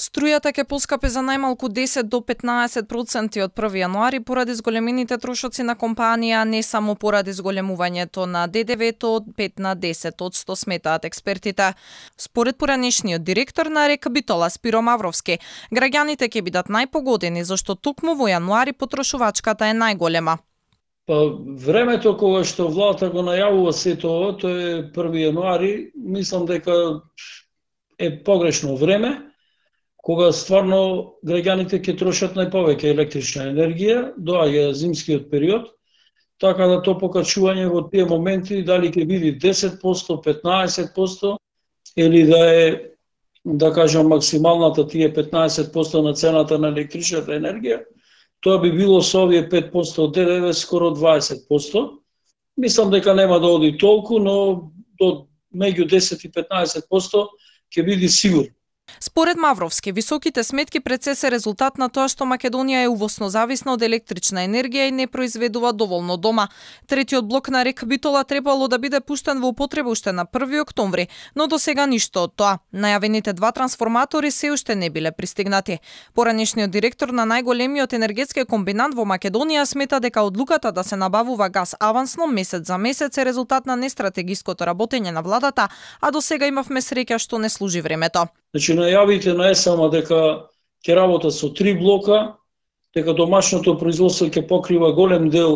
Струјата ќе поскапи за најмалку 10 до 15% од 1 јануари поради зголемените трошоци на компанија, не само поради зголемувањето на ДДВ-то од 5 на 10%, сметаат експертите. Според поранешниот директор на РЕК Битола Спиро Мавровски, граѓаните ќе бидат најпогодени зашто токму во јануари потрошувачката е најголема. Времето кога што владата го најавува сето ова, тоа е 1 јануари, мислам дека е погрешно време, кога стварно граѓаните ќе трошат најповеќе електрична енергија, доаѓа зимскиот период, така да то покачување во тие моменти дали ќе биде 10%, 15% или да е, да кажам, максималната тие 15% на цената на електричната енергија, тоа би било со овие 5% од ДДВ скоро 20%. Мислам дека нема да оди толку, но до меѓу 10 и 15% ќе биде сигурно. Според Мавровски, високите сметки пред се резултат на тоа што Македонија е увосно зависна од електрична енергија и не произведува доволно дома. Третиот блок на РЕК Битола требало да биде пуштен во употреба уште на 1 октомври, но до сега ништо од тоа. Најавените 2 трансформатори се уште не биле пристигнати. Поранешниот директор на најголемиот енергетски комбинат во Македонија смета дека одлуката да се набавува газ авансно месец за месец е резултат на нестратегиското работење на владата, а до сега имавме среќа што не служи времето. Значи, најавите на ЕСАМА дека ќе работат со 3 блока, дека домашното производство ќе покрива голем дел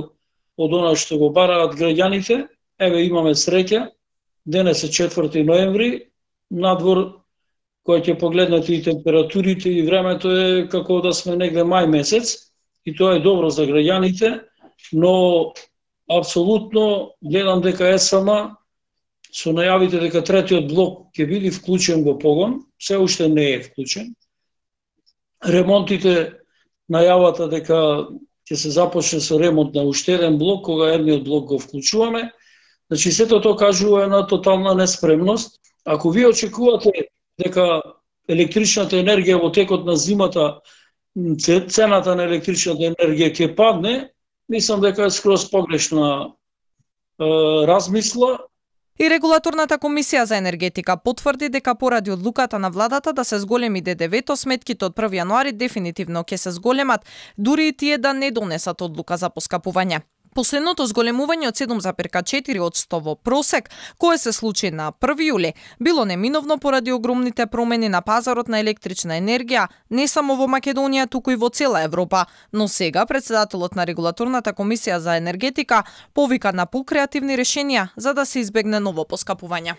од она што го бараат граѓаните. Еве имаме среќа. Денес е 4 ноември, надвор кој ќе погледнете и температурите и времето е како да сме негде мај месец и тоа е добро за граѓаните, но апсолутно гледам дека ЕСАМА со најавите дека третиот блок ќе биде вклучен во погон, се уште не е вклучен. Ремонтите, најавата дека ќе се започне со ремонт на уште еден блок, кога едниот блок го вклучуваме. Значи, сето тоа кажува една тотална неспремност. Ако вие очекувате дека електричната енергија во текот на зимата, цената на електричната енергија ќе падне, мислам дека е скроз погрешна размисла. И Регулаторната комисија за енергетика потврди дека поради одлуката на владата да се зголеми ДДВ-то, сметките од 1 јануари дефинитивно ќе се зголемат, дури и тие да не донесат одлука за поскапување. Последното зголемување од 7,4% во просек, кое се случи на 1 јули, било неминовно поради огромните промени на пазарот на електрична енергија, не само во Македонија, туку и во цела Европа. Но сега председателот на Регулаторната комисија за енергетика повика на покреативни решенија за да се избегне ново поскапување.